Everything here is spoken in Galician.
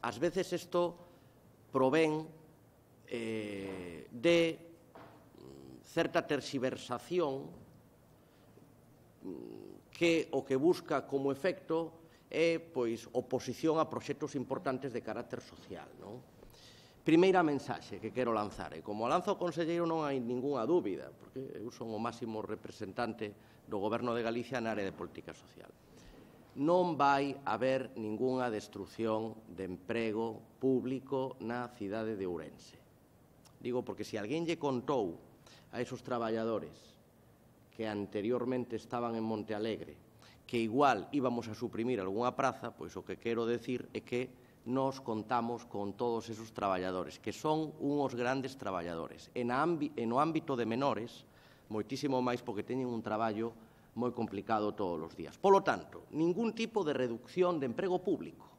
ás veces isto provén de certa terxiversación que o que busca como efecto é oposición a proxectos importantes de carácter social. Primeira mensaxe que quero lanzar, e como lanza o conselleiro non hai ningunha dúbida, porque eu son o máximo representante do Goberno de Galicia na área de política social. Non vai haber ningunha destrucción de emprego público na cidade de Ourense. Digo porque se alguén lle contou a esos traballadores que anteriormente estaban en Monte Alegre que igual íbamos a suprimir algunha praza, pois o que quero decir é que nos contamos con todos esos traballadores, que son unhos grandes traballadores. E no ámbito de menores, moitísimo máis porque teñen un traballo moi complicado todos os días. Polo tanto, ningún tipo de reducción de emprego público.